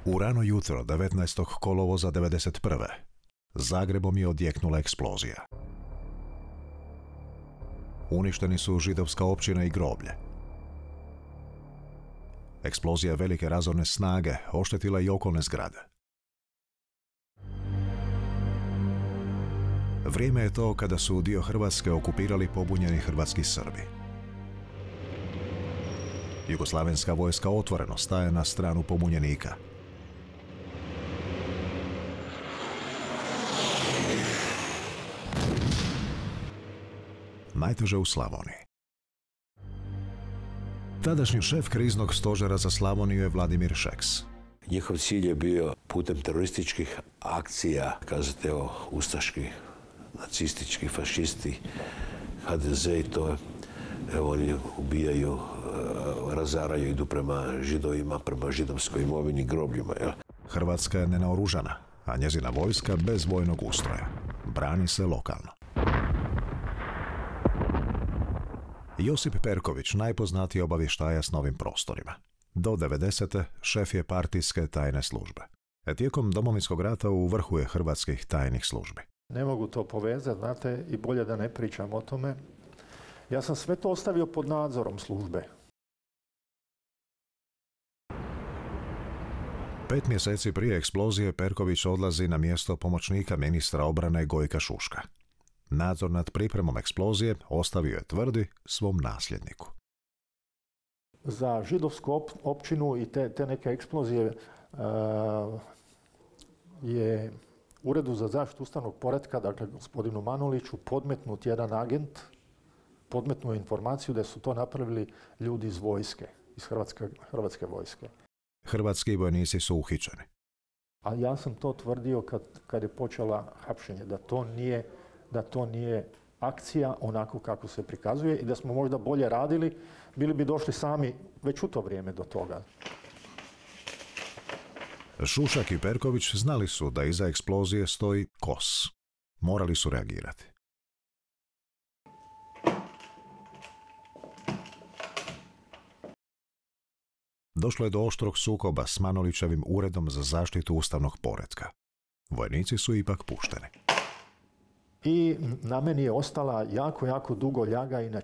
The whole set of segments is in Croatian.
U rano jutro 19. kolovoza 1991. Zagrebom je odjeknula eksplozija. Uništeni su židovska općina i groblje. Eksplozija velike razorne snage oštetila i okolne zgrade. Vrijeme je to kada su dio Hrvatske okupirali pobunjeni hrvatski Srbi. Jugoslavenska vojska otvoreno staje na stranu pobunjenika. Najteže u Slavoniji. Tadašnji šef kriznog stožera za Slavoniju je Vladimir Šeks. Njihov cilj je bio putem terorističkih akcija, kazate o ustaški, nacistički, fašisti, HDZ i to, evo oni ubijaju, razaraju, idu prema židovima, prema židovskoj imovini, grobljima. Jel? Hrvatska je nenaoružana, a njezina vojska bez vojnog ustroja. Brani se lokalno. Josip Perković najpoznatiji obavještajac na ovim prostorima. Do 90. šef je partijske tajne službe. Tijekom Domovinskog rata u vrhu je hrvatskih tajnih službi. Ne mogu to povezati, znate, i bolje da ne pričam o tome. Ja sam sve to ostavio pod nadzorom službe. 5 mjeseci prije eksplozije Perković odlazi na mjesto pomoćnika ministra obrane Gojka Šuška. Nadzor nad pripremom eksplozije ostavio je, tvrdi, svom nasljedniku. Za židovsku općinu i te neke eksplozije je Uredu za zaštitu ustavnog poretka, dakle gospodinu Manuliću, podmetnut jedan agent, podmetnuo informaciju da su to napravili ljudi iz vojske, iz hrvatske vojske. Hrvatski vojnici su uhićeni. A ja sam to tvrdio kad je počela hapšenje, da to nije akcija onako kako se prikazuje i da smo možda bolje radili, bili bi došli sami već u to vrijeme do toga. Šušak i Perković znali su da iza eksplozije stoji KOS. Morali su reagirati. Došlo je do oštrog sukoba s Manolićevim uredom za zaštitu ustavnog poretka. Vojnici su ipak pušteni. I na meni je ostala jako dugo ljaga i na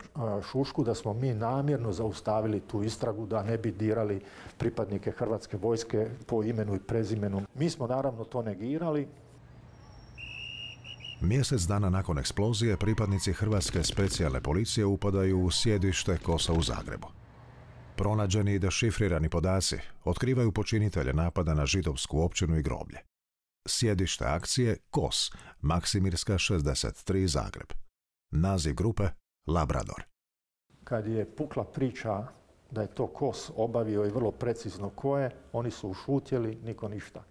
Šušku da smo mi namjerno zaustavili tu istragu da ne bi dirali pripadnike hrvatske vojske po imenu i prezimenu. Mi smo naravno to negirali. Mjesec dana nakon eksplozije pripadnici Hrvatske specijalne policije upadaju u sjedište KOS-a u Zagrebu. Pronađeni i dešifrirani podaci otkrivaju počinitelje napada na židovsku općinu i groblje. Sjedište akcije KOS, Maksimirska 63 Zagreb. Naziv grupe Labrador. Kad je pukla priča da je to KOS obavio i vrlo precizno ko je, oni su ušutjeli, niko ništa.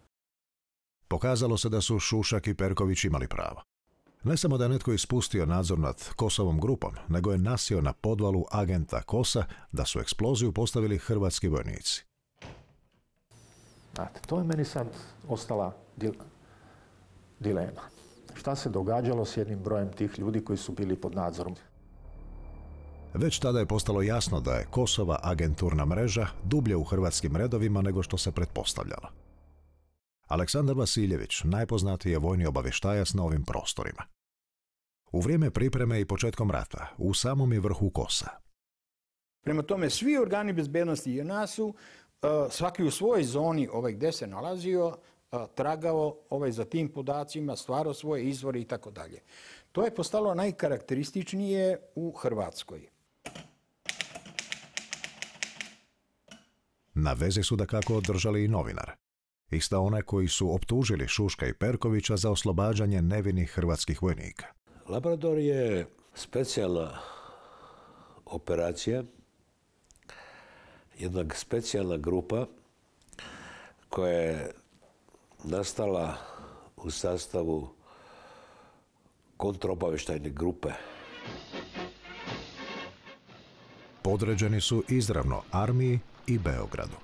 Pokazalo se da su Šušak i Perković imali pravo. Ne samo da je netko ispustio nadzor nad KOS-ovom grupom, nego je nasio na podvalu agenta KOS-a da su eksploziju postavili hrvatski vojnici. Znate, to je meni sad ostala dilema. Šta se događalo s jednim brojem tih ljudi koji su bili pod nadzorom? Već tada je postalo jasno da je KOS-ova agenturna mreža dublje u hrvatskim redovima nego što se pretpostavljalo. Aleksandar Vasiljević najpoznatiji je vojni obavještajac na ovim prostorima. U vrijeme pripreme i početkom rata u samom je vrhu KOS-a. Prema tome, svi organi bezbednosti JNA su svaki u svojoj zoni gdje se nalazio, tragao za tim podacima, stvarao svoje izvore i tako dalje. To je postalo najkarakterističnije u Hrvatskoj. Na vezi su dakako držali i novinare. Ista one koji su optužili Šuška i Perkovića za oslobađanje nevinih hrvatskih vojnika. Labrador je specijalna operacija, jedna specijalna grupa koja je nastala u sastavu kontraobavještajne grupe. Podređeni su izravno armiji i Beogradu.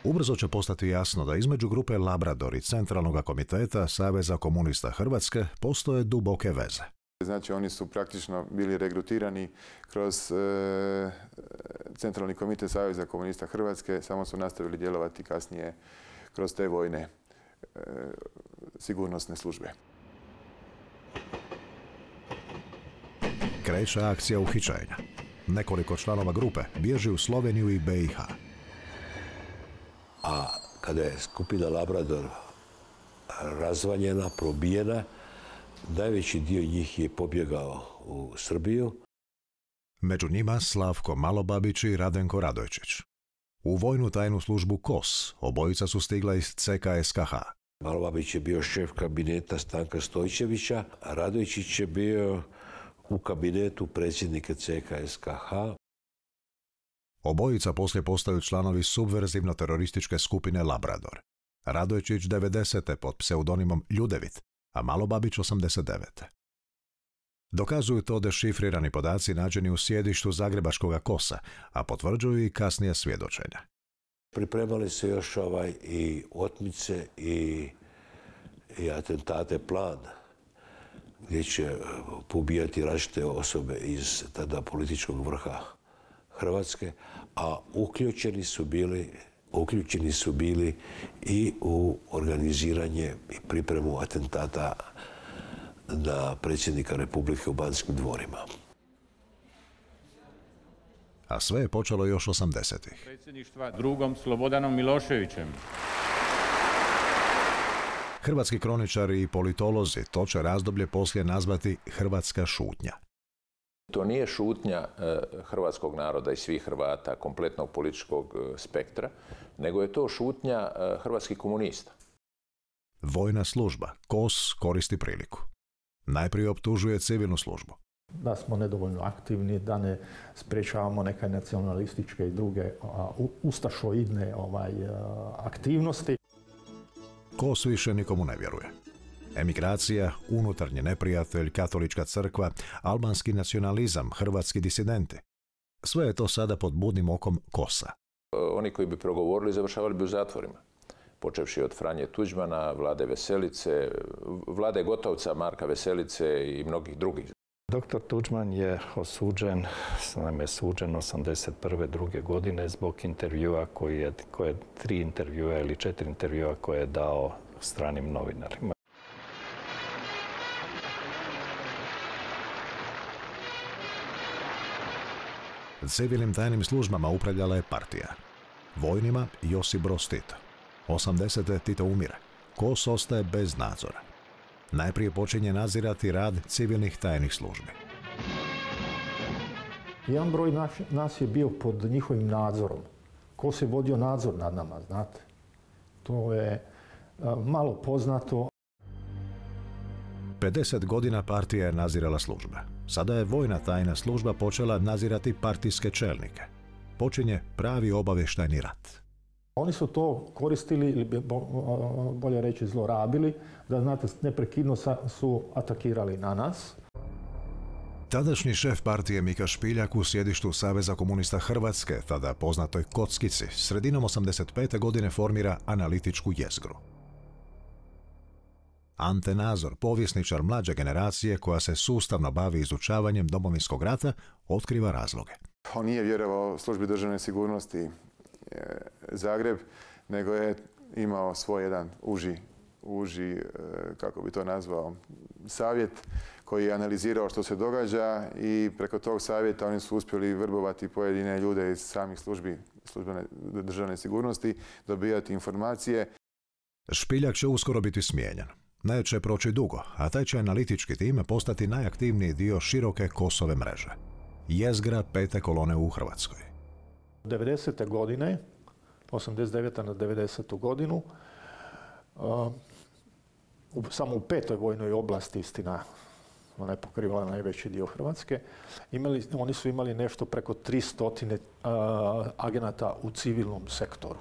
Ubrzo će postati jasno da između grupe Labrador i Centralnog komiteta Saveza komunista Hrvatske postoje duboke veze. Znači, oni su praktično bili regrutirani kroz Centralni komitet Saveza komunista Hrvatske, samo su nastavili djelovati kasnije kroz te vojne sigurnosne službe. Kreće akcija uhićenja. Nekoliko članova grupe bježi u Sloveniju i BiH. A kada je skupina Labrador razvaljena, probijena, najveći dio njih je pobjegao u Srbiju. Među njima Slavko Malobabić i Radenko Radojčić. U vojnu tajnu službu KOS obojica su stigla iz CKSKH. Malobabić je bio šef kabineta Stanka Stojčevića, a Radojčić je bio u kabinetu predsjednika CKSKH. Obojica poslije postaju članovi subverzivno-terorističke skupine Labrador. Radojčić 90. pod pseudonimom Ljudevit, a Malobabić 89. Dokazuju to dešifrirani podaci nađeni u sjedištu zagrebačkog KOS-a, a potvrđuju i kasnije svjedočenja. Pripremali se još i otmice i atentate plan, gdje će pobijati različite osobe iz tada političkog vrha Hrvatske, a uključeni su bili i u organiziranje i pripremu atentata na predsjednika Republike u Banskim dvorima. A sve je počelo još 80-ih. Predsjedništva drugom Slobodanom Miloševićem. Hrvatski kroničari i politolozi to će razdoblje poslije nazvati hrvatska šutnja. To nije šutnja hrvatskog naroda i svih Hrvata, kompletnog političkog spektra, nego je to šutnja hrvatskih komunista. Vojna služba, KOS, koristi priliku. Najprije optužuje civilnu službu. Da smo nedovoljno aktivni, da ne sprečavamo neke nacionalističke i druge ustašoidne aktivnosti. KOS više nikomu ne vjeruje. Emigracija, unutarnji neprijatelj, katolička crkva, albanski nacionalizam, hrvatski disidenti. Sve je to sada pod budnim okom KOS-a. Oni koji bi progovorili završavali bi u zatvorima. Počevši od Franje Tuđmana, Vlade Veselice, Vlade Gotovca, Marka Veselice i mnogih drugih. Doktor Tuđman je osuđen, naime suđen 81. druge godine zbog intervjua koje 3 intervjua ili 4 intervjua koje je dao stranim novinarima. Civilnim tajnim službama upravljala je partija. Vojnima Josip Broz Tito. 80. Tito umire. KOS ostaje bez nadzora. Najprije počinje nadzirati rad civilnih tajnih službi. Jedan broj nas je bio pod njihovim nadzorom. KOS je vodio nadzor nad nama, znate. To je malo poznato. 50 godina partija je nadzirala službe. Sada je vojna tajna služba počela nadzirati partijske čelnike. Počinje pravi obavještajni rat. Oni su to koristili, ili bolje reći zlorabili, da znate, neprekidno su atakirali na nas. Tadašnji šef partije Mika Špiljak u sjedištu Saveza komunista Hrvatske, tada poznatoj Kockici, sredinom 85. godine formira analitičku jezgru. Ante Nazor, povjesničar mlađe generacije koja se sustavno bavi izučavanjem Domovinskog rata, otkriva razloge. On nije vjerovao službi državne sigurnosti Zagreb, nego je imao svoj jedan uži, kako bi to nazvao, savjet koji je analizirao što se događa i preko tog savjeta oni su uspjeli vrbovati pojedine ljude iz samih službene državne sigurnosti, dobijati informacije. Špiljak će uskoro biti smijenjen. Neće proći dugo, a taj će analitički tim postati najaktivniji dio široke KOS-ove mreže. Jezgra 5. kolone u Hrvatskoj. 90. godine, 89. na 90. godinu, samo u 5. vojnoj oblasti, istina, ona je pokrivala najveći dio Hrvatske, oni su imali nešto preko 300 agenata u civilnom sektoru.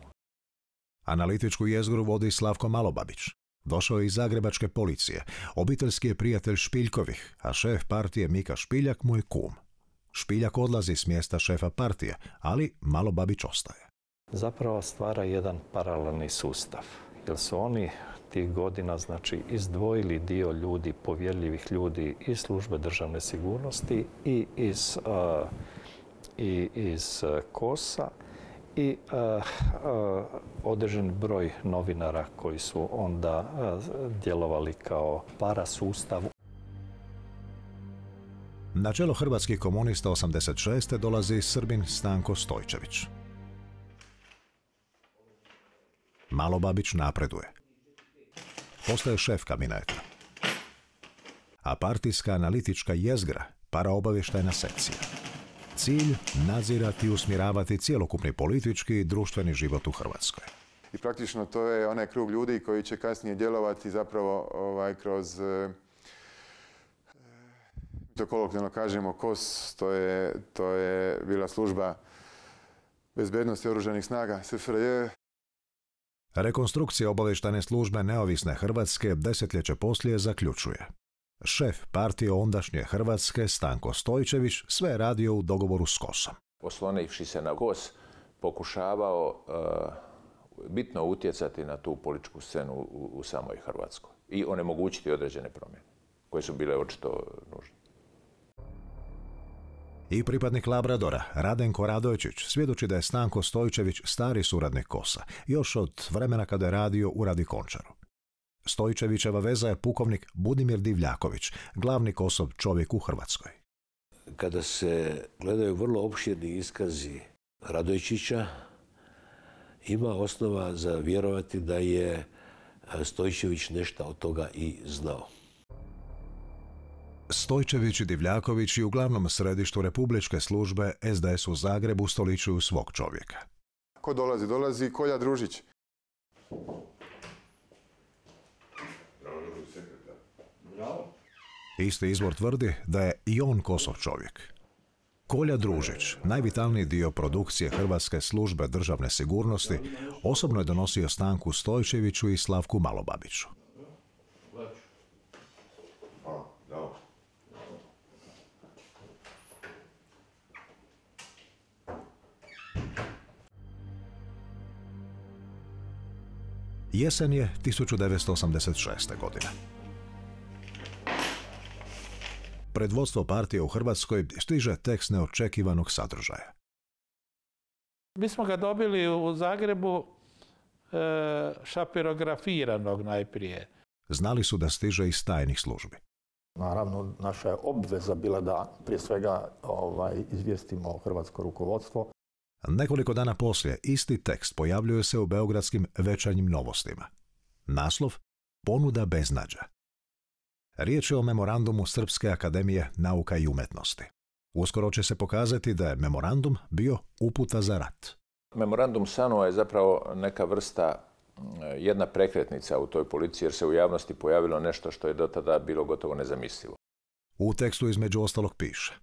Analitičku jezgru vodi Slavko Malobabić. Došao je iz zagrebačke policije. Obiteljski je prijatelj Špiljkovih, a šef partije Mika Špiljak mu je kum. Špiljak odlazi s mjesta šefa partije, ali Malobabić ostaje. Zapravo stvara jedan paralelni sustav, jer su oni 90-ih godina znači izdvojili dio ljudi, povjerljivih ljudi iz službe državne sigurnosti i iz KOS-a i određen broj novinara koji su onda djelovali kao parasustav. Na čelo hrvatskih komunista 86. dolazi Srbin Stanko Stojčević. Malobabić napreduje. Postaje šef kabineta. A partijska analitička jezgra, paraobavještajna sekcija. Cilj nadzirati i usmjeravati cjelokupni politički i društveni život u Hrvatskoj. I praktično to je onaj krug ljudi koji će kasnije djelovati zapravo kroz, to kolokvijalno kažemo, KOS, to je bila služba bezbednosti oružanih snaga SFRJ. Rekonstrukcija obavještajne službe neovisne Hrvatske desetljeće poslije zaključuje. Šef partije ondašnje Hrvatske, Stanko Stojčević, sve je radio u dogovoru s KOS-om. Oslonivši se na KOS, pokušavao bitno utjecati na tu političku scenu u samoj Hrvatskoj i onemogućiti određene promjene, koje su bile očito nužne. I pripadnik Labradora, Radenko Radojčić, svjedoči da je Stanko Stojčević stari suradnik KOS-a, još od vremena kada je radio u Radi Končaru. Stojčevićeva veza je pukovnik Budimir Divljaković, glavni KOS-ov čovjek u Hrvatskoj. Kada se gledaju vrlo opširni iskazi Radojčića, ima osnova za vjerovati da je Stojčević nešto od toga i znao. Stojčević i Divljaković i u glavnom središtu republičke službe SDS u Zagrebu ustoličuju svog čovjeka. Ko dolazi? Dolazi Kolja Družić. Isti izvor tvrdi da je i on KOS-ov čovjek. Kolja Družić, najvitalniji dio produkcije Hrvatske službe državne sigurnosti, osobno je donosio Stanku Stojčeviću i Slavku Malobabiću. Jesen je 1986. godine. Pred vodstvo partije u Hrvatskoj stiže tekst neočekivanog sadržaja. Mi smo ga dobili u Zagrebu šapirografiranog najprije. Znali su da stiže iz tajnih službi. Naravno, naša je obveza bila da prije svega izvijestimo hrvatsko rukovodstvo. Nekoliko dana poslije isti tekst pojavljuje se u beogradskim Večernjim novostima. Naslov Ponuda beznađa. Riječ je o memorandumu Srpske akademije nauka i umetnosti. Uskoro će se pokazati da je memorandum bio uputa za rat. Memorandum SANU je zapravo neka vrsta, jedna prekretnica u toj politici jer se u javnosti pojavilo nešto što je do tada bilo gotovo nezamislivo. U tekstu između ostalog piše: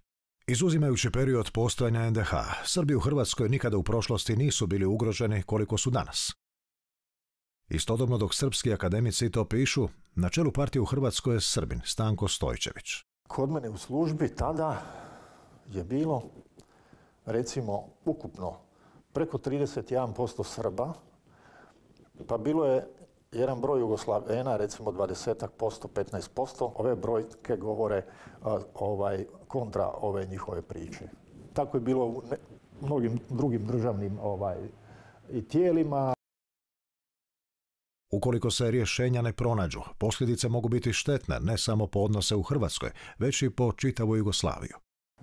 izuzimajući period postojanja NDH, Srbi u Hrvatskoj nikada u prošlosti nisu bili ugroženi koliko su danas. Istodobno dok srpski akademici to pišu, na čelu partije u Hrvatskoj je Srbin Stanko Stojčević. Kod mene u službi tada je bilo, recimo, ukupno preko 31% Srba, pa bilo je jedan broj Jugoslavena, recimo 20%, 15%. Ove brojke govore kontra ove njihove priče. Tako je bilo u mnogim drugim državnim i tijelima. Ukoliko se rješenja ne pronađu, posljedice mogu biti štetne ne samo po odnose u Hrvatskoj, već i po čitavu Jugoslaviju.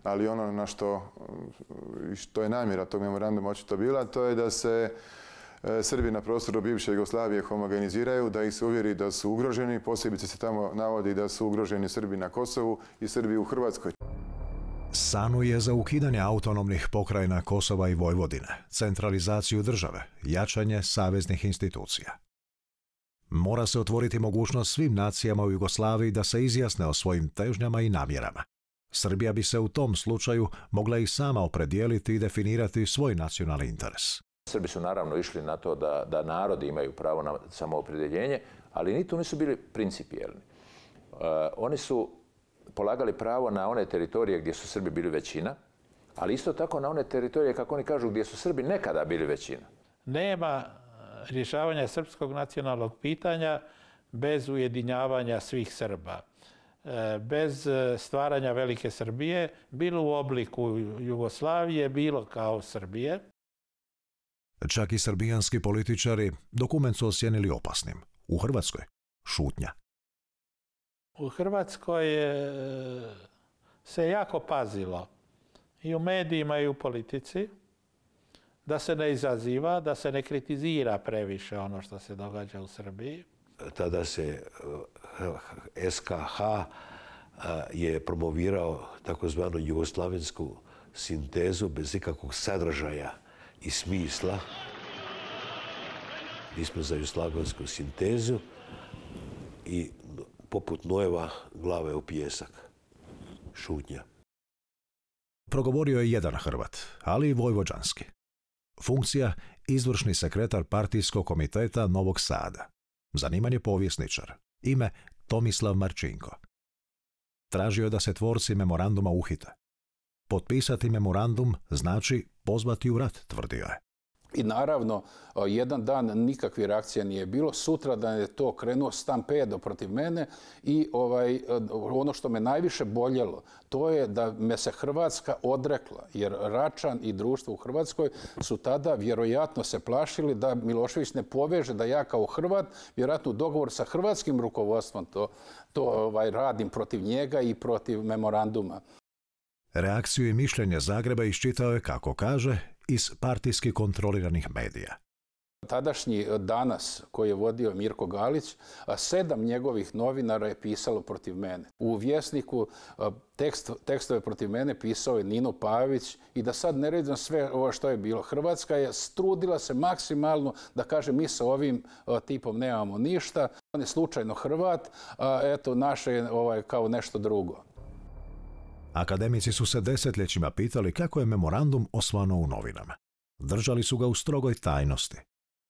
Ali ono na što je namjera tog memoranduma očito bila, to je da se Srbi na prostoru bivše Jugoslavije homogeniziraju, da ih se uvjeri da su ugroženi, posebice se tamo navodi da su ugroženi Srbi na Kosovu i Srbi u Hrvatskoj. SANU je za ukidanje autonomnih pokrajina Kosova i Vojvodine, centralizaciju države, jačanje saveznih institucija. Mora se otvoriti mogućnost svim nacijama u Jugoslaviji da se izjasne o svojim težnjama i namjerama. Srbija bi se u tom slučaju mogla i sama opredijeliti i definirati svoj nacionalni interes. Srbi su naravno išli na to da narodi imaju pravo na samoopredjeljenje, ali ni tu nisu bili principijelni. Oni su polagali pravo na one teritorije gdje su Srbi bili većina, ali isto tako na one teritorije, kako oni kažu, gdje su Srbi nekada bili većina. Nema rješavanja srpskog nacionalnog pitanja bez ujedinjavanja svih Srba, bez stvaranja Velike Srbije, bilo u obliku Jugoslavije, bilo kao Srbije. Čak i srbijanski političari dokument su ocijenili opasnim. U Hrvatskoj šutnja. U Hrvatskoj se jako pazilo i u medijima i u politici da se ne izaziva, da se ne kritizira previše ono što se događa u Srbiji. Tada se SKH je promovirao takozvanu jugoslavensku sintezu bez ikakvog sadržaja i smisla. Mi smo za jugoslavensku sintezu i poput Nojeva glave u pijesak. Šutnja. Progovorio je jedan Hrvat, ali i vojvođanski. Funkcija izvršni sekretar partijskog komiteta Novog Sada. Zanimanje povjesničar. Ime Tomislav Marčinko. Tražio je da se tvorci memoranduma uhite. Potpisati memorandum znači pozvati u rat, tvrdio je. I naravno, jedan dan nikakve reakcije nije bilo. Sutra da je to krenuo stampedo protiv mene i ono što me najviše boljelo, to je da me se Hrvatska odrekla, jer Račan i društvo u Hrvatskoj su tada vjerojatno se plašili da Milošević ne poveže da ja kao Hrvat, vjerojatno u dogovor sa hrvatskim rukovodstvom to radim protiv njega i protiv memoranduma. Reakciju i mišljenje Zagreba iščitao je, kako kaže, iz partijski kontroliranih medija. Tadašnji Danas, koji je vodio Mirko Galić, 7 njegovih novinara je pisalo protiv mene. U Vjesniku tekstove protiv mene pisao je Nino Pavić i da sad ne redim sve ovo što je bilo. Hrvatska je trudila se maksimalno da kaže mi sa ovim tipom nemamo ništa. On je slučajno Hrvat, a eto naše je kao nešto drugo. Akademici su se desetljećima pitali kako je memorandum osvano u novinama. Držali su ga u strogoj tajnosti.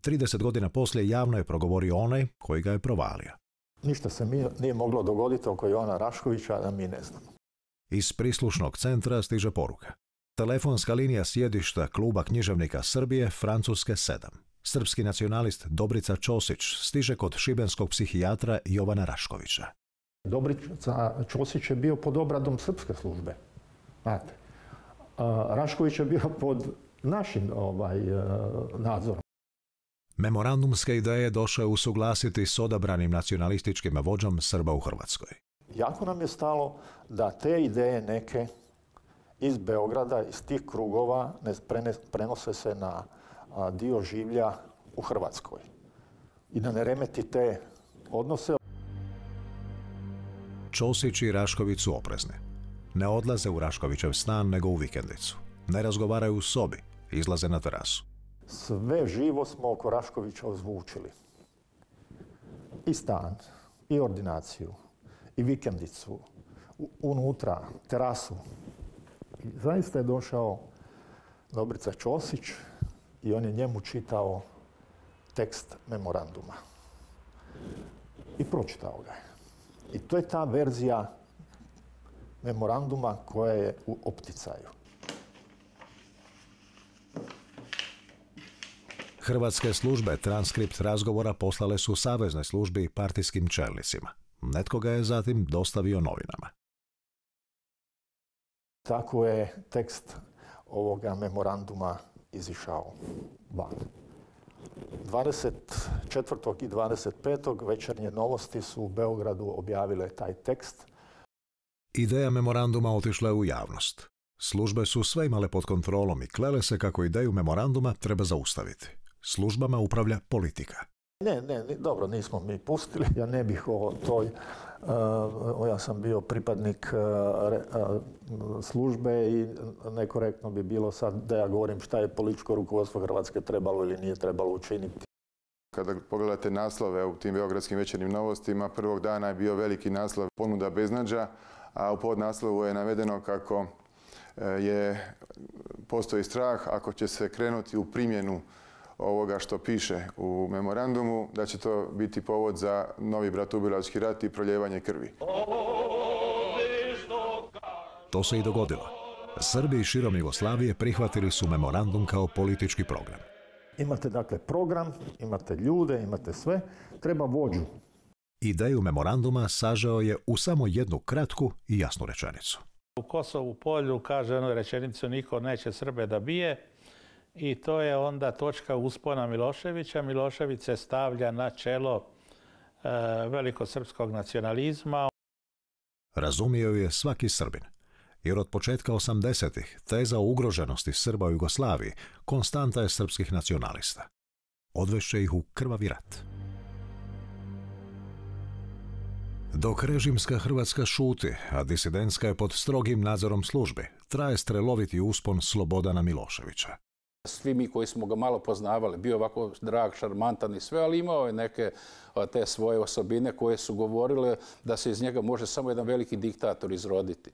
30 godina poslije javno je progovorio onaj koji ga je provalio. Ništa se nije moglo dogoditi oko Jovana Raškovića, da mi ne znamo. Iz prislušnog centra stiže poruka. Telefonska linija sjedišta Kluba književnika Srbije, Francuske 7. Srpski nacionalist Dobrica Ćosić stiže kod šibenskog psihijatra Jovana Raškovića. Dobrica Ćosić je bio pod obradom srpske službe. Znate. Rašković je bio pod našim nadzorom. Memorandumske ideje došao je usuglasiti s odabranim nacionalističkim vođom Srba u Hrvatskoj. Jako nam je stalo da te ideje neke iz Beograda, iz tih krugova, prenose se na dio življa u Hrvatskoj. I da ne remeti te odnose. Ćosić i Rašković su oprezni. Ne odlaze u Raškovićev stan, nego u vikendicu. Ne razgovaraju u sobi, izlaze na terasu. Sve živo smo oko Raškovića ozvučili. I stan, i ordinaciju, i vikendicu, unutra, terasu. I zaista je došao Dobrica Ćosić i on je njemu čitao tekst memoranduma. I pročitao ga je. I to je ta verzija memoranduma koja je u opticaju. Hrvatske službe transkript razgovora poslale su saveznoj službi i partijskim čelnicima. Netko ga je zatim dostavio novinama. Tako je tekst ovoga memoranduma izišao van. 24. i 25. Večernje novosti su u Beogradu objavile taj tekst. Ideja memoranduma otišla je u javnost. Službe su sve imale pod kontrolom i klele se kako ideju memoranduma treba zaustaviti. Službama upravlja politika. Ne, dobro, nismo mi pustili. Ja ne bih o toj... ja sam bio pripadnik službe i nekorektno bi bilo sad da ja govorim šta je političko rukovodstvo Hrvatske trebalo ili nije trebalo učiniti. Kada pogledate naslove u tim beogradskim večernjim novostima, prvog dana je bio veliki naslov ponuda beznađa, a u podnaslovu je navedeno kako postoji strah ako će se krenuti u primjenu ovoga što piše u memorandumu, da će to biti povod za novi bratoubilački rat i proljevanje krvi. To se i dogodilo. Srbi širom Jugoslavije prihvatili su memorandum kao politički program. Imate dakle program, imate ljude, imate sve, treba vođu. Ideju memoranduma sažeo je u samo jednu kratku i jasnu rečenicu. U Kosovu polju kaže onu rečenicu niko neće Srbe da bije i to je onda točka uspona Miloševića. Milošević se stavlja na čelo velikosrpskog nacionalizma. Razumio je svaki Srbin, jer od početka 80-ih teza o ugroženosti Srba u Jugoslaviji konstanta je srpskih nacionalista. Odvešće ih u krvavi rat. Dok režimska Hrvatska šuti, a disidentska je pod strogim nadzorom službi, traje streloviti uspon Slobodana Miloševića. Svi mi koji smo ga malo poznavali, bio ovako drag, šarmantan i sve, ali imao je neke te svoje osobine koje su govorile da se iz njega može samo jedan veliki diktator izroditi.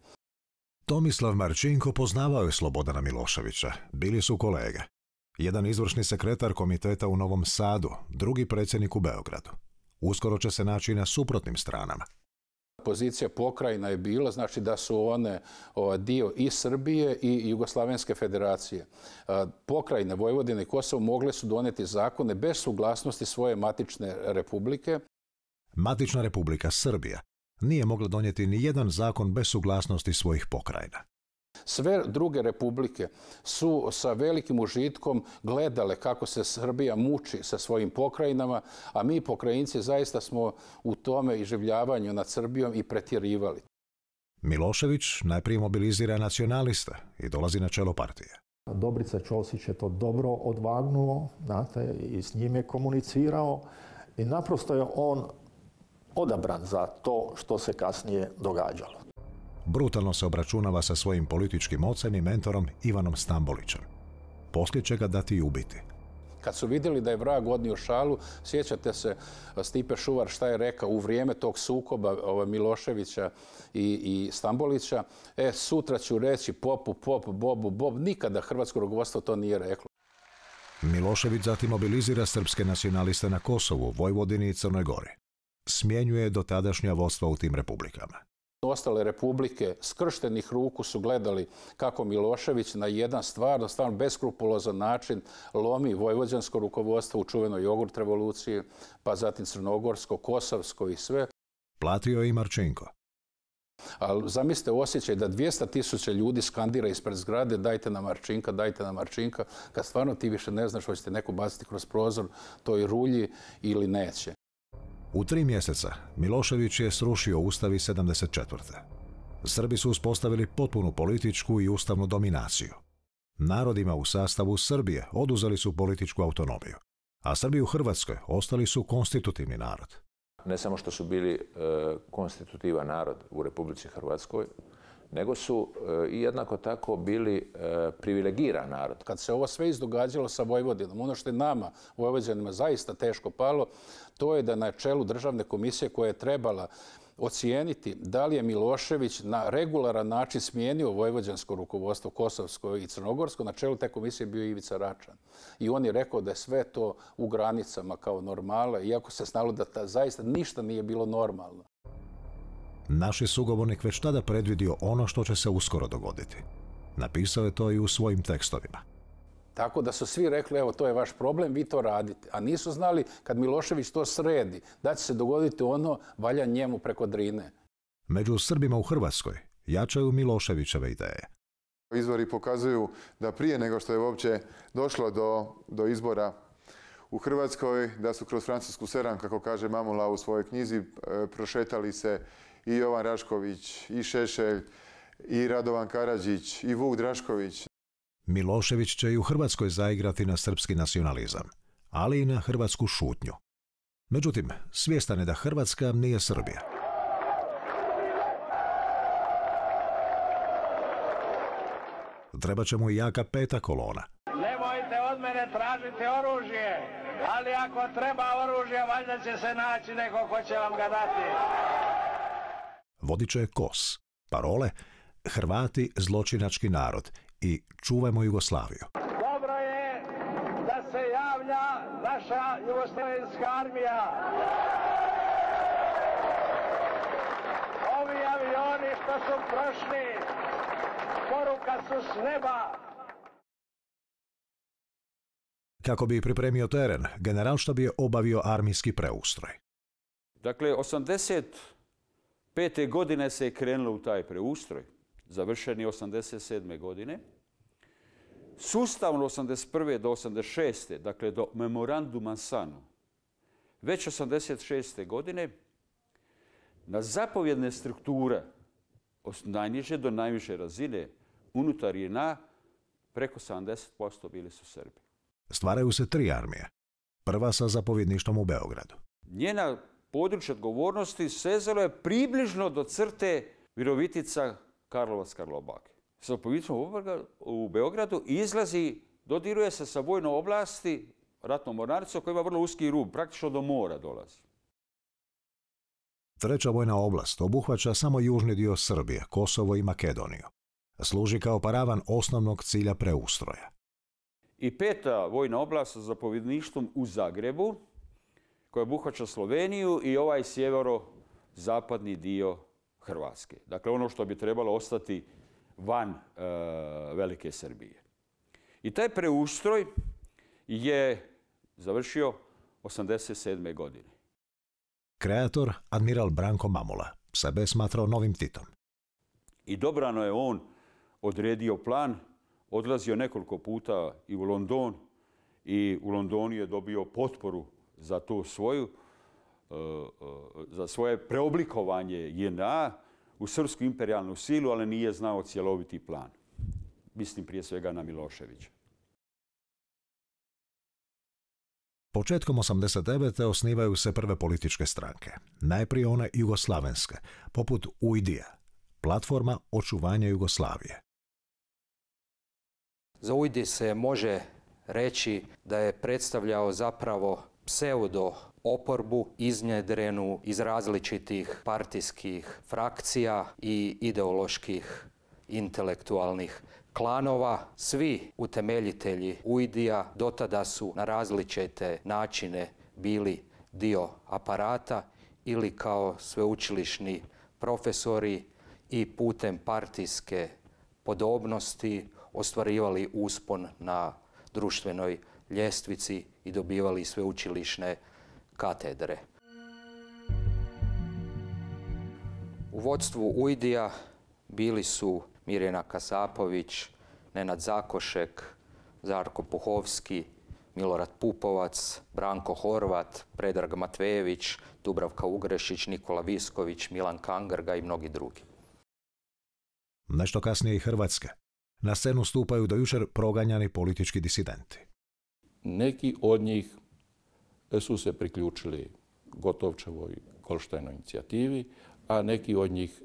Tomislav Marčinko poznavao je Slobodana Miloševića, bili su kolege. Jedan izvršni sekretar komiteta u Novom Sadu, drugi predsjednik u Beogradu. Uskoro će se naći na suprotnim stranama. Pozicija pokrajina je bila, znači da su one dio i Srbije i Jugoslavenske federacije. Pokrajine Vojvodine i Kosovo mogle su doneti zakone bez suglasnosti svoje matične republike. Matična republika Srbija nije mogla donijeti ni jedan zakon bez suglasnosti svojih pokrajina. Sve druge republike su sa velikim užitkom gledale kako se Srbija muči sa svojim pokrajinama, a mi pokrajinci zaista smo u tome iživljavanju nad Srbijom i pretjerivali. Milošević najprije mobilizira nacionaliste i dolazi na čelo partije. Dobrica Ćosić je to dobro odvagnuo, znate, i s njim je komunicirao i naprosto je on odabran za to što se kasnije događalo. Brutalno se obračunava sa svojim političkim ocem i mentorom Ivanom Stambolićem. Poslije će ga dati i ubiti. Kad su vidjeli da je vrag odnio šalu, sjećate se Stipe Šuvar šta je rekao u vrijeme tog sukoba Miloševića i Stambolića. Sutra ću reći popu, pop, bobu, bob. Nikada hrvatsko rukovodstvo to nije reklo. Milošević zatim mobilizira srpske nacionaliste na Kosovu, Vojvodini i Crnoj Gori. Smjenjuje dotadašnja vodstva u tim republikama. Ostale republike skrštenih ruku su gledali kako Milošević na jedan stvarno beskrupulozan način lomi vojvođansko rukovodstvo u čuvenoj jogurt revoluciji, pa zatim crnogorsko, kosovsko i sve. Platio je i Marčinko. Ali zamislite osjećaj da 200.000 ljudi skandira ispred zgrade dajte nam Marčinka, kad stvarno ti više ne znaš hoćete neko baciti kroz prozor toj rulji ili neće. U 3 mjeseca Milošević je srušio Ustav iz 74. Srbi su uspostavili potpunu političku i ustavnu dominaciju. Narodima u sastavu Srbije oduzeli su političku autonomiju, a Srbi u Hrvatskoj ostali su konstitutivni narod. Ne samo što su bili konstitutivan narod u Republici Hrvatskoj, nego su i jednako tako bili privilegiran narod. Kad se ovo sve izdogađalo sa Vojvodinom, ono što je nama, Vojvođanima, zaista teško palo, to je da na čelu državne komisije koja je trebala ocijeniti da li je Milošević na regularan način smijenio vojvođansko rukovodstvo, kosovsko i crnogorsko, na čelu te komisije bio Ivica Račan. I on je rekao da je sve to u granicama kao normala, iako se znalo da zaista ništa nije bilo normalno. Naš sugovornik već tada predvidio ono što će se uskoro dogoditi. Napisao je to i u svojim tekstovima. Tako da su svi rekli, evo, to je vaš problem, vi to radite. A nisu znali, kad Milošević to sredi, da će se dogoditi ono, valja njemu preko Drine. Među Srbima u Hrvatskoj jačaju Miloševićeve ideje. Izvori pokazuju da prije nego što je uopće došlo do izbora u Hrvatskoj, da su kroz Francusku Seran, kako kaže Mamula u svojoj knjizi, prošetali se i Jovan Rašković, i Šešelj, i Radovan Karadžić, i Vuk Drašković. Milošević će i u Hrvatskoj zaigrati na srpski nacionalizam, ali i na hrvatsku šutnju. Međutim, svjestan je da Hrvatska nije Srbija. Treba će mu i jaka 5. kolona. Nemojte od mene tražiti oružje, ali ako treba oružje, valjda će se naći neko ko će vam ga dati. Vodit će KOS. Parole: Hrvati zločinački narod i čuvajmo Jugoslaviju. Dobro je da se javlja naša jugoslavenska armija. Ovi avioni što su prošli, poruka su s neba. Kako bi pripremio teren, Generalštab je obavio armijski preustroj. Dakle, 85. godine se je krenulo u taj preustroj, završen je 87. godine. Sustavno 81. do 86. dakle do memoranduma Sanu, već 86. godine na zapovjedne strukture od najniže do najviše razine unutar JNA preko 70% bili su Srbi. Stvaraju se 3 armije. Prva sa zapovjedništvom u Beogradu. Njena područje odgovornosti sezalo je približno do crte Virovitica, Karlovac, Karlobag. Sa zapovjedništvom u Beogradu izlazi, dodiruje se sa vojnom oblasti, ratnom mornaricom koja ima vrlo uski rub, praktično do mora dolazi. Treća vojna oblast obuhvaća samo južni dio Srbije, Kosovo i Makedoniju. Služi kao paravan osnovnog cilja preustroja. I peta vojna oblast sa zapovjedništvom u Zagrebu, koja obuhvaća Sloveniju i ovaj sjevero-zapadni dio Hrvatske. Dakle, ono što bi trebalo ostati van Velike Srbije. I taj preustroj je završio 87. godine. Kreator, admiral Branko Mamula, sebe je smatrao novim Titom. I dobrano je on odredio plan, odlazio nekoliko puta i u London i u Londonu je dobio potporu za to za svoje preoblikovanje JNA u srpsku imperijalnu silu, ali nije znao cjeloviti plan. Mislim prije svega na Miloševića. Početkom 89. osnivaju se prve političke stranke. Najprije one jugoslavenske, poput UID-a, platforma očuvanja Jugoslavije. Za UID se može reći da je predstavljao zapravo pseudo oporbu iznjedrenu iz različitih partijskih frakcija i ideoloških intelektualnih klanova. Svi utemeljitelji UID-a dotada su na različite načine bili dio aparata ili kao sveučilišni profesori i putem partijske podobnosti ostvarivali uspon na društvenoj ljestvici i dobivali sveučilišne katedre. U vodstvu UID-a bili su Mirjana Kasapović, Nenad Zakošek, Žarko Puhovski, Milorad Pupovac, Branko Horvat, Predrag Matvejević, Dubravka Ugrešić, Nikola Visković, Milan Kangrga i mnogi drugi. Nešto kasnije i Hrvatske. Na scenu stupaju do jučer proganjani politički disidenti. Neki od njih su se priključili Gotovčevoj Kolštajnoj inicijativi, a neki od njih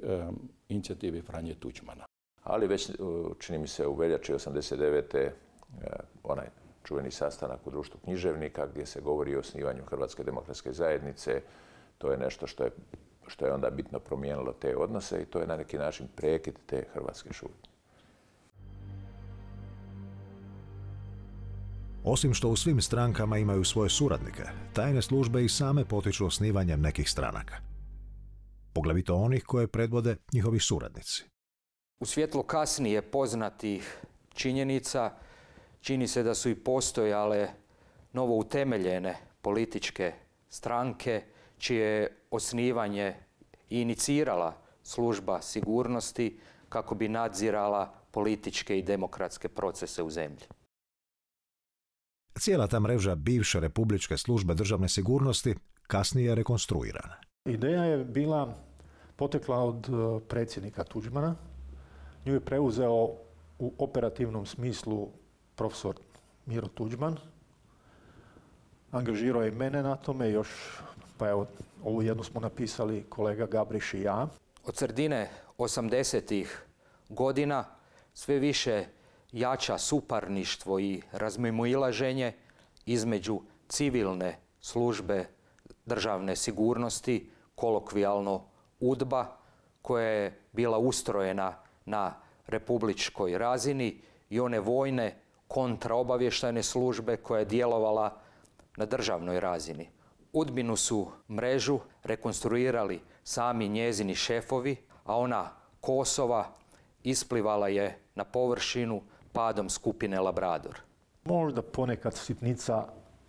inicijativi Franje Tuđmana. Ali već, čini mi se, u veljači 89. onaj čuveni sastanak u društvu književnika gdje se govori o osnivanju Hrvatske demokratske zajednice, to je nešto što je onda bitno promijenilo te odnose i to je na neki način prekid te hrvatske šutnje. Osim što u svim strankama imaju svoje suradnike, tajne službe i same potiču osnivanjem nekih stranaka. Poglavito onih koje predvode njihovi suradnici. U svjetlu kasnije poznatih činjenica čini se da su i postojale novo utemeljene političke stranke čije je osnivanje i inicirala služba sigurnosti kako bi nadzirala političke i demokratske procese u zemlji. Cijela ta mreža bivše republičke službe državne sigurnosti kasnije je rekonstruirana. Ideja je bila potekla od predsjednika Tuđmana. Nju je preuzeo u operativnom smislu profesor Miro Tuđman. Angažirao je i mene na tome, još, pa evo, ovu jednu smo napisali kolega Gabriš i ja. Od sredine 80-ih godina sve više jača suparništvo i razmimoilaženje između civilne službe državne sigurnosti, kolokvijalno UDBA, koja je bila ustrojena na republičkoj razini, i one vojne kontraobavještajne službe koja je djelovala na državnoj razini. UDBA-inu su mrežu rekonstruirali sami njezini šefovi, a ona Kosova isplivala je na površinu padom skupine Labrador. Možda ponekad sitnica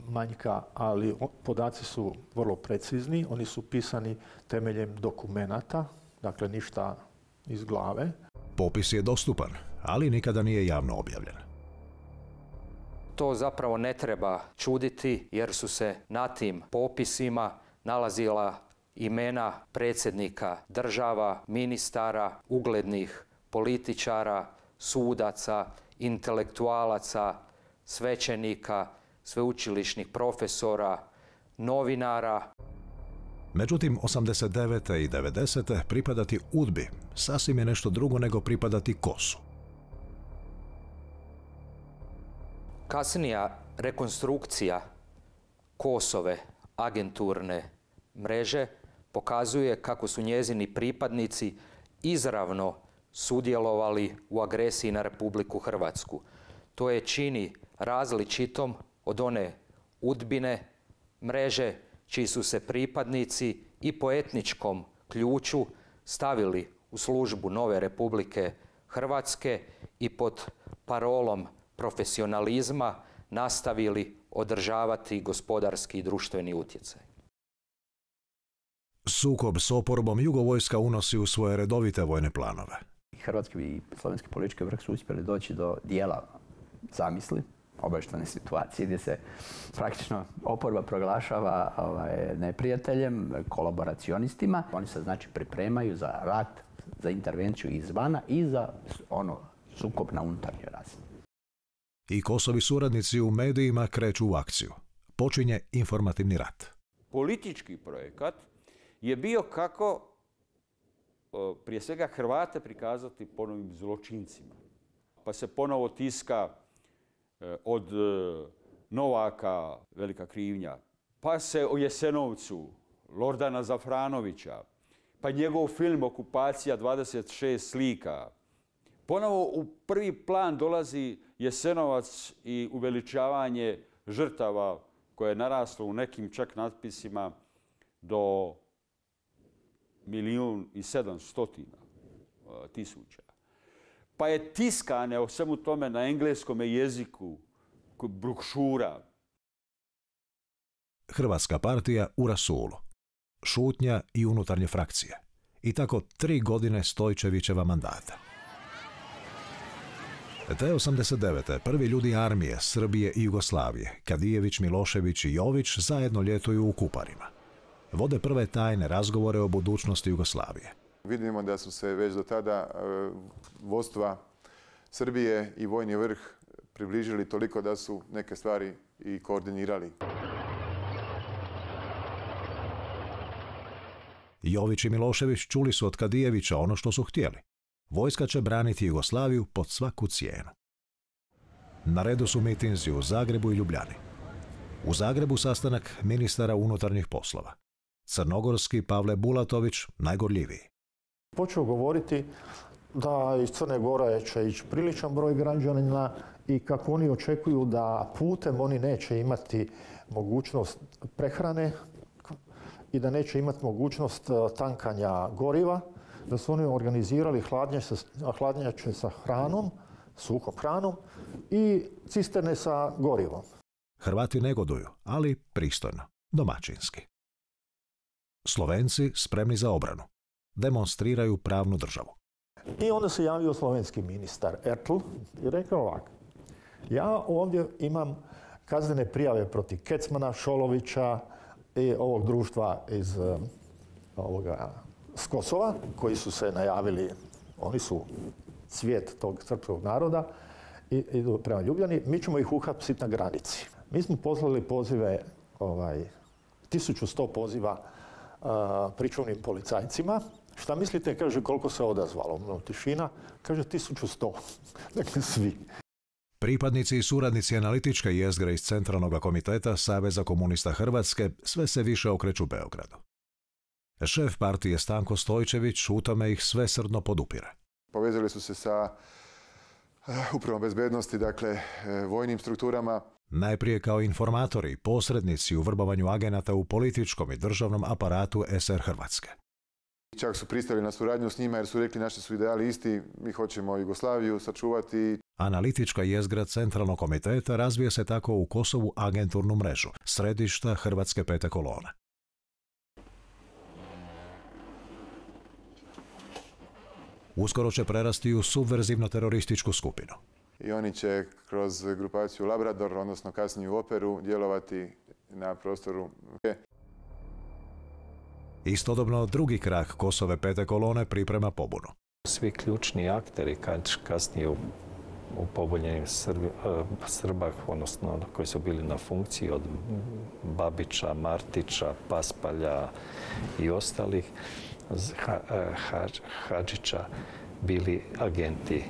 manjka, ali podaci su vrlo precizni, oni su pisani temeljem dokumenata, dakle ništa iz glave. Popis je dostupan, ali nikada nije javno objavljen. To zapravo ne treba čuditi jer su se na tim popisima nalazila imena predsjednika država, ministara, uglednih političara, sudaca, intelektualaca, svećenika, sveučilišnih profesora, novinara. Međutim, 89. i 90. pripadati UDBI sasvim je nešto drugo nego pripadati KOS-u. Kasnija rekonstrukcija KOS-ove agenturne mreže pokazuje kako su njezini pripadnici izravno sudjelovali u agresiji na Republiku Hrvatsku. To je čini različitom od one UDBIne mreže čiji su se pripadnici i po etničkom ključu stavili u službu nove Republike Hrvatske i pod parolom profesionalizma nastavili održavati gospodarski i društveni utjecaj. Sukob s oporbom Jugovojska unosi u svoje redovite vojne planove. Hrvatski i slovenski politički vrh su uspjeli doći do dijela zamisli, obavještajne situacije gdje se praktično oporba proglašava neprijateljem, kolaboracionistima. Oni se znači pripremaju za rat, za intervenciju izvana i za sukob na unutarnjoj razini. I KOS-ovi suradnici u medijima kreću u akciju. Počinje informativni rat. Politički projekat je bio kako prije svega Hrvate prikazati ponovim zločincima. Pa se ponovo tiska od Novaka Velika krivnja, pa se o Jesenovcu Lordana Zafranovića, pa njegov film Okupacija 26 slika. Ponovo u prvi plan dolazi Jasenovac i uveličavanje žrtava koje je naraslo u nekim čak natpisima do 1.700.000. Pa je tiskane o svemu tome na engleskom jeziku brošura. Hrvatska partija u rasulu. Šutnja i unutarnje frakcije. I tako 3 godine Stojčevićeva mandata. Te 89. prvi ljudi armije, Srbije i Jugoslavije, Kadijević, Milošević i Jović zajedno ljetuju u Kuparima. Vode prve tajne razgovore o budućnosti Jugoslavije. Vidimo da su se već do tada vodstva Srbije i vojni vrh približili toliko da su neke stvari i koordinirali. Jović i Milošević čuli su od Kadijevića ono što su htjeli. Vojska će braniti Jugoslaviju pod svaku cijenu. Na redu su mitinzi u Zagrebu i Ljubljani. U Zagrebu sastanak ministara unutarnjih poslova. Crnogorski Pavle Bulatović najgorljiviji. Počeo govoriti da iz Crne Gore će ići priličan broj građana i kako oni očekuju da putem oni neće imati mogućnost prehrane i da neće imati mogućnost tankanja goriva, da su oni organizirali hladnjače sa hranom, suhom hranom i cisterne sa gorivom. Hrvati negoduju, ali pristojno, domaćinski. Slovenci spremni za obranu. Demonstriraju pravnu državu. I onda se javio slovenski ministar Ertl i rekao ovako. Ja ovdje imam kaznene prijave protiv Kecmana, Šolovića i ovog društva iz s Kosova, koji su se najavili, oni su cvijet tog srpskog naroda i idu prema Ljubljani. Mi ćemo ih uhapsiti na granici. Mi smo poslali pozive, 1100 poziva pričuvnim policajcima. Šta mislite, kaže, koliko se odazvalo? Tišina, kaže 1100. Dakle, svi. Pripadnici i suradnici analitičke jezgre iz Centralnog komiteta Saveza komunista Hrvatske sve se više okreću Beogradu. Šef partije Stanko Stojčević u tome ih svesrdno podupire. Povezali su se sa upravom bezbednosti, dakle, vojnim strukturama. Najprije kao informatori, posrednici u vrbovanju agenata u političkom i državnom aparatu SR Hrvatske. Čak su pristali na suradnju s njima jer su rekli naši su ideali isti, mi hoćemo Jugoslaviju sačuvati. Analitička jezgra Centralnog komiteta razvije se tako u Kosovu agenturnu mrežu, središta Hrvatske pete kolone. Uskoro će prerasti u subverzivno-terorističku skupinu. I oni će kroz grupaciju Labrador, odnosno kasniju Operu, djelovati na prostoru. Istodobno drugi krak Kosove pete kolone priprema pobunu. Svi ključni akteri kasnije u pobunjenim Srba, odnosno koji su bili na funkciji od Babića, Martića, Paspalja i ostalih, Hadžića, bili agenti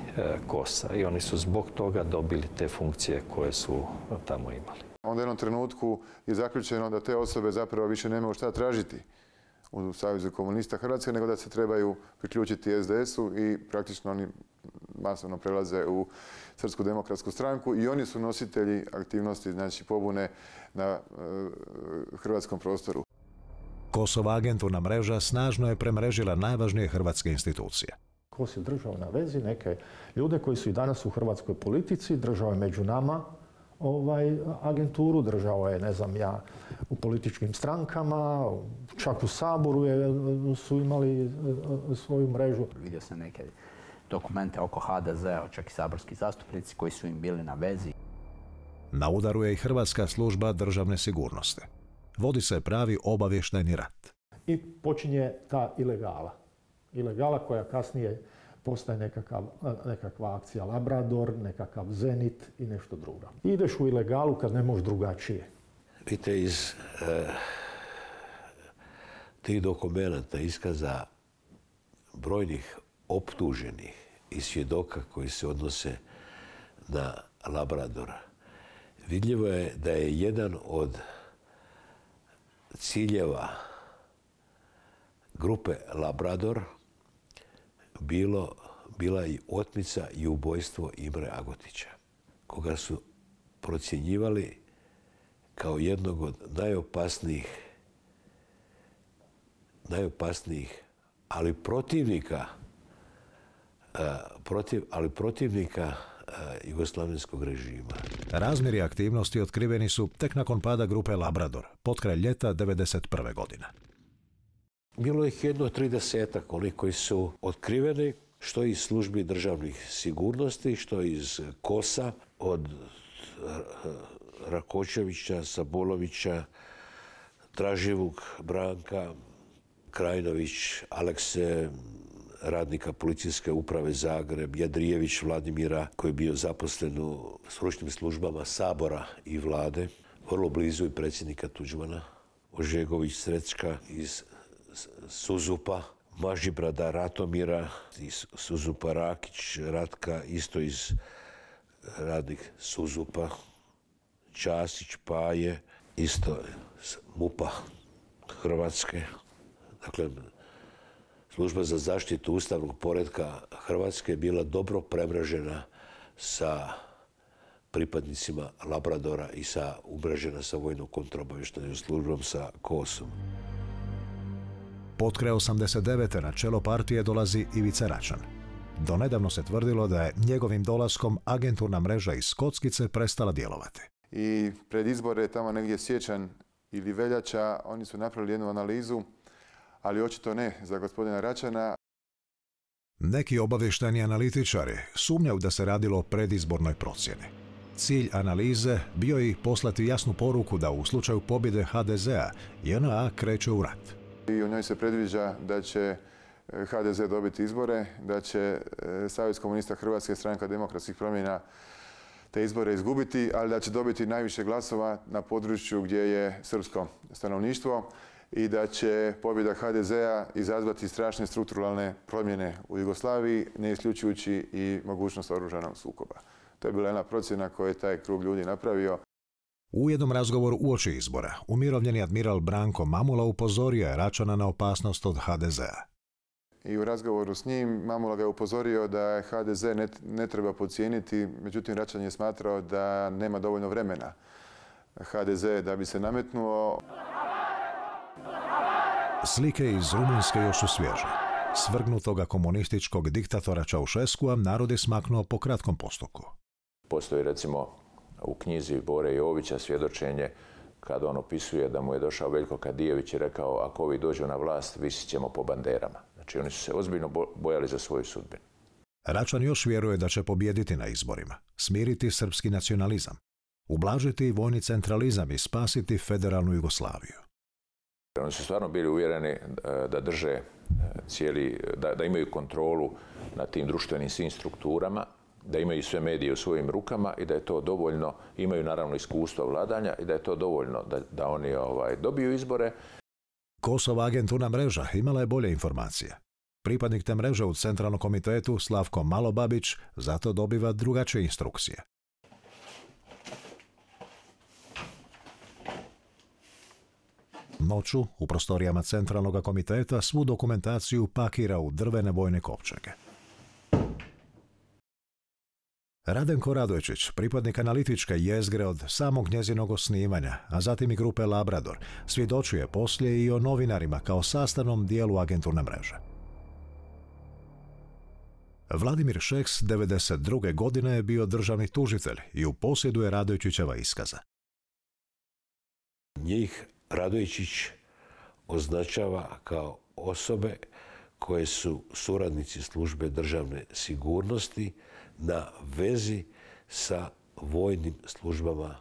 KOS-a i oni su zbog toga dobili te funkcije koje su tamo imali. Onda u jednom trenutku je zaključeno da te osobe zapravo više nemaju šta tražiti u Savezu komunista Hrvatske, nego da se trebaju priključiti SDS-u i praktično oni masovno prelaze u Srpsku demokratsku stranku i oni su nositelji aktivnosti, znači pobune na hrvatskom prostoru. Kosova agenturna mreža snažno je premrežila najvažnije hrvatske institucije. KOS je držao na vezi neke ljude koji su i danas u hrvatskoj politici, držao je među nama agenturu, držao je, ne znam ja, u političkim strankama, čak u Saboru su imali svoju mrežu. Vidio sam neke dokumente oko HDZ-a, čak i saborski zastupnici koji su im bili na vezi. Na udaru je i Hrvatska služba državne sigurnosti. Vodi se pravi obavještajni rat. I počinje ta ilegala. Ilegala koja kasnije postaje nekakva akcija Labrador, nekakav Zenit i nešto drugo. Ideš u ilegalu kad ne možeš drugačije. Vidite, iz tih dokumenata, iskaza brojnih optuženih i svjedoka koji se odnose na Labrador, vidljivo je da je jedan od ciljeva grupe Labrador bila i otmica i ubojstvo Imre Agotića, koga su procjenjivali kao jednog od najopasnijih, ali protivnika jugoslavenskog režima. Razmjeri aktivnosti otkriveni su tek nakon pada grupe Labrador, potkraj ljeta 1991. godine. Bilo ih jedno 30-ak onih koji su otkriveni, što iz službi državnih sigurnosti, što iz KOS-a, od Rakočevića, Sabolovića, Draživog Branka, Krajnović, Alekse, radnika policijske uprave Zagreb, Jadrijević Vladimira, koji je bio zaposlen u stručnim službama Sabora i vlade, vrlo blizu i predsjednika Tuđmana, Ožegović Srećka iz Suzupa, Mažibrada Ratomira, iz Suzupa Rakić Ratka, isto iz radnih Suzupa, Ćasić Paje, isto iz MUP-a Hrvatske. Dakle, Služba za zaštitu ustavnog poretka Hrvatske je bila dobro premrežena sa pripadnicima Labradora i umrežena sa vojnom kontraobavještajnom službom sa KOS-om. Potkraj 89. na čelo partije dolazi Ivica Račan. Donedavno se tvrdilo da je njegovim dolaskom agenturna mreža iz Kockice prestala djelovati. I pred izbore, tamo negdje siječanj ili veljača, oni su napravili jednu analizu, ali očito ne za gospodina Račana. Neki obavještajni analitičari sumnjaju da se radilo o predizbornoj procjeni. Cilj analize bio je poslati jasnu poruku da u slučaju pobjede HDZ-a JNA kreće u rat. I u njoj se predviđa da će HDZ dobiti izbore, da će Savez komunista Hrvatske, Stranka demokratskih promjena, te izbore izgubiti, ali da će dobiti najviše glasova na području gdje je srpsko stanovništvo i da će pobjeda HDZ-a izazvati strašne strukturalne promjene u Jugoslaviji, ne isključujući i mogućnost oružanog sukoba. To je bila jedna procjena koju je taj krug ljudi napravio. U jednom razgovoru uoči izbora, umirovljeni admiral Branko Mamula upozorio je Račana na opasnost od HDZ-a. I u razgovoru s njim Mamula ga je upozorio da HDZ ne treba podcijeniti, međutim Račan je smatrao da nema dovoljno vremena HDZ da bi se nametnuo. Slike iz Rumunjske još su svježe. Svrgnutoga komunističkog diktatora Čaušeskua narod je smaknuo po kratkom postupku. Postoji recimo u knjizi Bore Jovića svjedočenje kada on opisuje da mu je došao Veljko Kadijević i rekao ako ovi dođu na vlast, visit ćemo po banderama. Znači oni su se ozbiljno bojali za svoju sudbinu. Račan još vjeruje da će pobijediti na izborima, smiriti srpski nacionalizam, ublažiti vojni centralizam i spasiti federalnu Jugoslaviju. Oni su stvarno bili uvjereni da drže da imaju kontrolu nad tim društvenim svim strukturama, da imaju sve medije u svojim rukama i da je to dovoljno, imaju naravno iskustvo vladanja i da je to dovoljno da oni dobiju izbore. Kosova agenturna mreža imala je bolje informacije. Pripadnik te mreže u Centralnom komitetu Slavko Malobabić zato dobiva drugačije instrukcije. Noću u prostorijama Centralnog komiteta svu dokumentaciju pakira u drvene vojne kovčege. Radenko Radojčić, pripadnik analitičke jezgre od samog njezinog osnivanja, a zatim i grupe Labrador, svjedočuje poslije i o novinarima kao sastavnom dijelu agenturne mreže. Vladimir Šeks 1992. godine je bio državni tužitelj i u posjedu je Radojčićeva iskaza. Njih Radojčić označava kao osobe koje su suradnici službe državne sigurnosti na vezi sa vojnim službama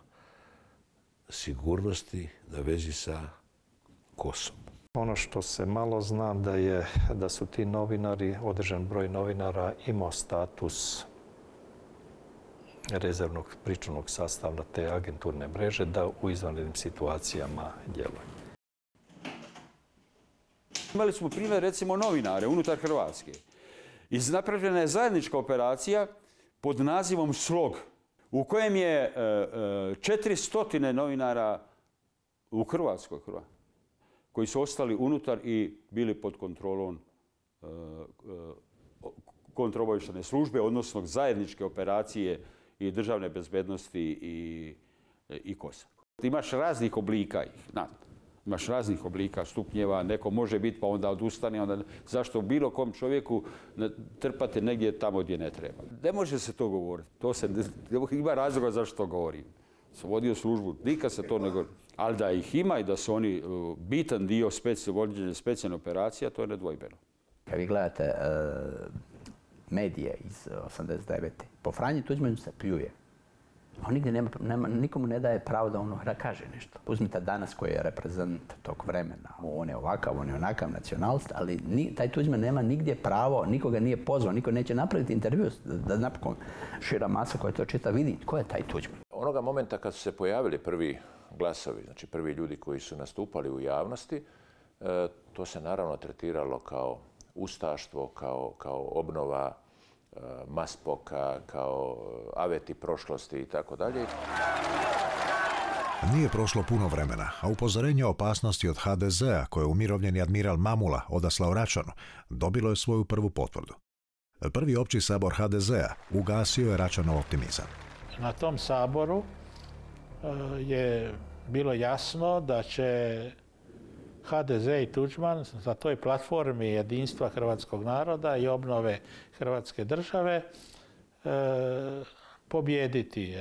sigurnosti, na vezi sa KOS-om. Ono što se malo zna da su ti novinari, određen broj novinara imao status rezervnog pričuvnog sastava te agenturne mreže da u izvanrednim situacijama djeluje. Imali smo primjer recimo novinare unutar Hrvatske. Napravljena je zajednička operacija pod nazivom Slog, u kojem je 400 novinara u Hrvatskoj koji su ostali unutar i bili pod kontrolom kontraobavještajne službe, odnosno zajedničke operacije i državne bezbednosti i KOS-a. Imaš raznih oblika ih, imaš raznih oblika, stupnjeva, neko može biti pa onda odustane, onda zašto bilo kom čovjeku trpate negdje tamo gdje ne treba. Ne može se to govoriti, ima razloga zašto to govorim. Sam vodio službu, nikad se to ne govori. Ali da ih ima i da su oni bitan dio vođenja specijalne operacija, to je nedvojbeno. Kad vi gledate medije iz 89. po Franji Tuđmanu se pljuje. On nigdje nikomu ne daje pravo da on kaže nešto. Uzmite danas koji je reprezent tog vremena. On je ovakav, on je onakav nacionalist, ali taj Tuđman nema nigdje pravo, nikoga nije pozvao, niko neće napraviti intervju da napokon šira masa koja to čita vidi tko je taj Tuđman. Onoga momenta kad su se pojavili prvi glasovi, znači prvi ljudi koji su nastupali u javnosti, to se naravno tretiralo kao ustaštvo, kao obnova Maspoka, kao aveti prošlosti i tako dalje. Nije prošlo puno vremena, a upozorenje o opasnosti od HDZ-a koje je umirovljeni admiral Mamula odaslao Račanu dobilo je svoju prvu potvrdu. Prvi opći sabor HDZ-a ugasio je Račanov optimizam. Na tom saboru je bilo jasno da će HDZ i Tuđman na toj platformi jedinstva hrvatskog naroda i obnove Hrvatske države pobijediti.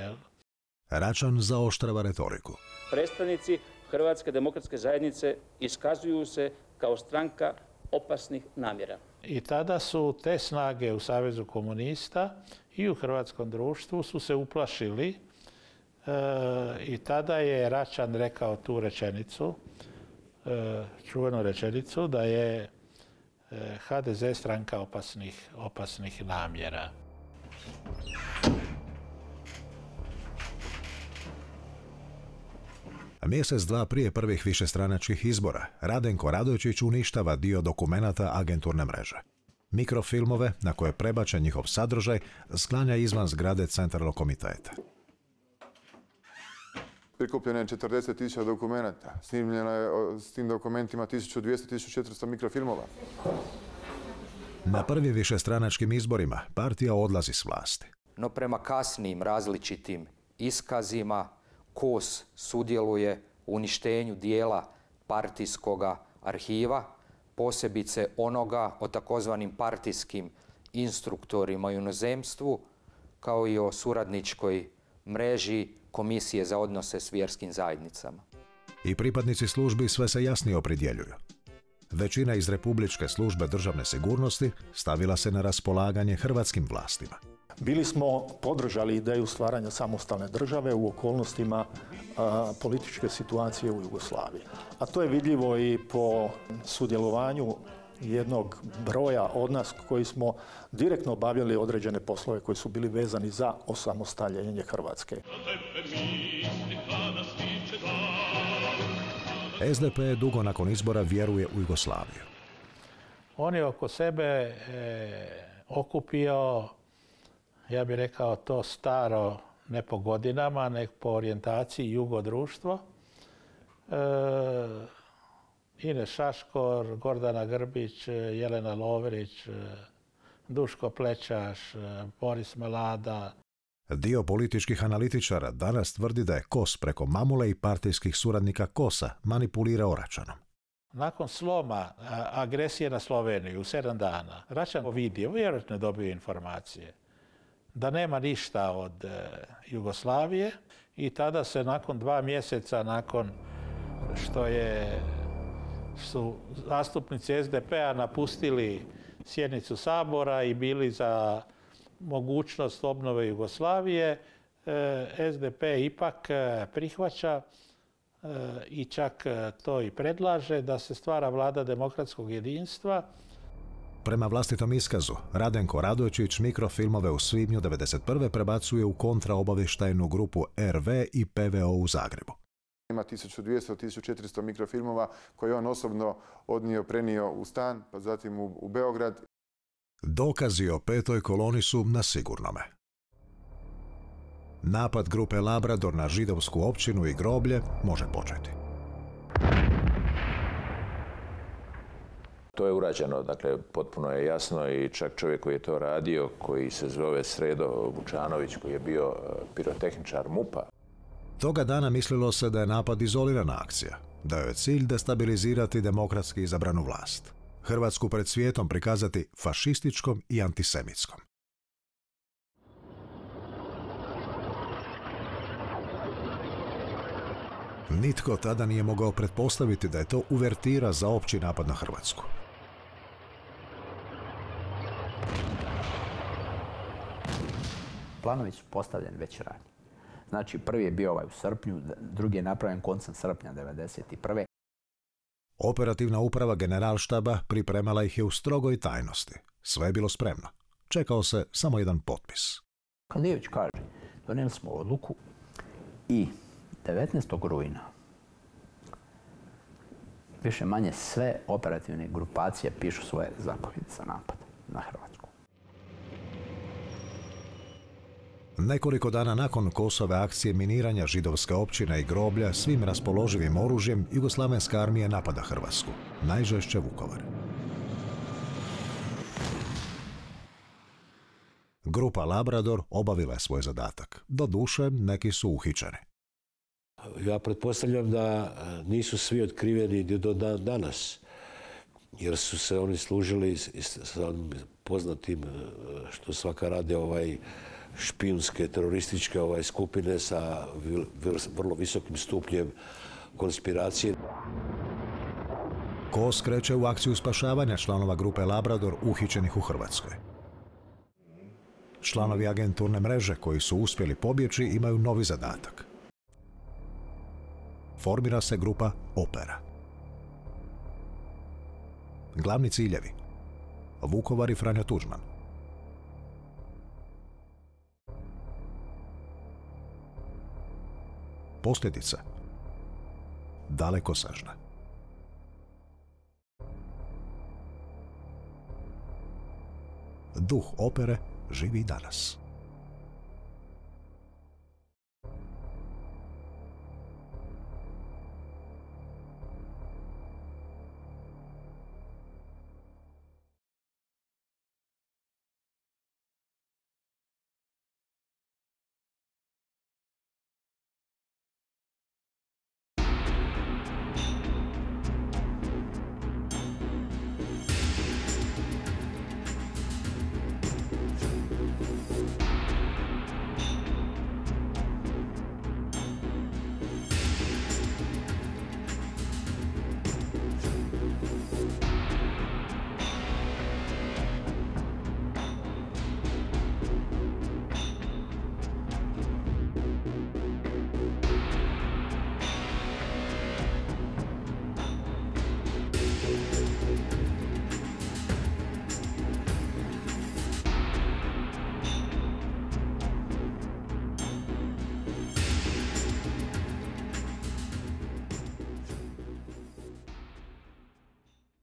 Račan zaoštrava retoriku. Predstavnici Hrvatske demokratske zajednice iskazuju se kao stranka opasnih namjera. I tada su te snage u Savezu komunista i u hrvatskom društvu su se uplašili i tada je Račan rekao tu rečenicu, čuvenu rečenicu da je HDZ stranka opasnih namjera. Mjesec, dva prije prvih višestranačkih izbora, Radenko Radojčić uništava dio dokumenata agenturne mreže. Mikrofilmove, na koje je prebačen njihov sadržaj, sklanja izvan zgrade Centralnog komiteta. Prikupljeno je 40.000 dokumenata. Snimljeno je s tim dokumentima 1200-1400 mikrofilmova. Na prvim višestranačkim izborima partija odlazi s vlasti. No prema kasnijim različitim iskazima KOS sudjeluje u uništenju dijela partijskoga arhiva, posebice onoga o takozvanim partijskim instruktorima u inozemstvu, kao i o suradničkoj mreži Komisije za odnose s vjerskim zajednicama. I pripadnici službi sve se jasnije opredjeljuju. Većina iz Republičke službe državne sigurnosti stavila se na raspolaganje hrvatskim vlastima. Bili smo podržali ideju stvaranja samostalne države u okolnostima političke situacije u Jugoslaviji. A to je vidljivo i po sudjelovanju jednog broja od nas koji smo direktno obavljali određene poslove koji su bili vezani za osamostaljenje Hrvatske. SDP dugo nakon izbora vjeruje u Jugoslaviju. On je oko sebe okupio, ja bih rekao, to staro, ne po godinama, nego po orijentaciji jugodruštvo. Ines Šaškor, Gordana Grbić, Jelena Lovrić, Duško Plečaš, Boris Melada. Dio političkih analitičara danas tvrdi da je Kos preko mamule i partijskih suradnika Kosa manipulirao Račanom. Nakon sloma agresije na Sloveniju u 7 dana, Račan vidio, vjerojatno je dobio informacije da nema ništa od Jugoslavije i tada se nakon 2 mjeseca nakon što su zastupnici SDP-a napustili sjednicu Sabora i bili za mogućnost obnove Jugoslavije, SDP ipak prihvaća i čak to i predlaže da se stvara vlada demokratskog jedinstva. Prema vlastitom iskazu, Radenko Radojčić mikrofilmove u svibnju 1991. prebacuje u kontraobavještajnu grupu RV i PVO u Zagrebu. Ima 1200-1400 mikrofilmova koje on osobno prenio u stan, pa zatim u Beograd. Dokazi o 5. koloni su na sigurnome. Napad grupe Labrador na židovsku općinu i groblje može početi. To je urađeno, dakle, potpuno je jasno i čak čovjek koji je to radio, koji se zove Sredo Vučanović, koji je bio pirotehničar MUP-a. Toga dana mislilo se da je napad izolirana akcija, da je cilj destabilizirati demokratski izabranu vlast. Hrvatsku pred svijetom prikazati fašističkom i antisemitskom. Nitko tada nije mogao pretpostaviti da je to uvertira za opći napad na Hrvatsku. Planovi su postavljeni već ranije. Znači, prvi je bio u srpnju, drugi je napravljen koncem srpnja 1991. Operativna uprava generalštaba pripremala ih je u strogoj tajnosti. Sve je bilo spremno. Čekao se samo jedan potpis. Kalijević kaže, donijeli smo odluku i 19. rujna više manje sve operativne grupacije pišu svoje zapovjedi za napad na Hrvatsku. Nekoliko dana nakon Kosove akcije miniranja židovske općine i groblja svim raspoloživim oružjem, jugoslavenska armija napada Hrvatsku, najžešće Vukovar. Grupa Labrador obavila je svoj zadatak. Doduše, neki su uhićeni. Ja pretpostavljam da nisu svi otkriveni do danas, jer su se oni služili sa poznatim što svaka rade špijunske, terorističke skupine sa vrlo visokim stupnjem konspiracije. Kos kreće u akciju spašavanja članova grupe Labrador uhićenih u Hrvatskoj. Članovi agenturne mreže koji su uspjeli pobjeći imaju novi zadatak. Formira se grupa Opera. Glavni ciljevi: Vukovar i Franjo Tuđman. Posljedice: dalekosežne. Duh opere živi danas.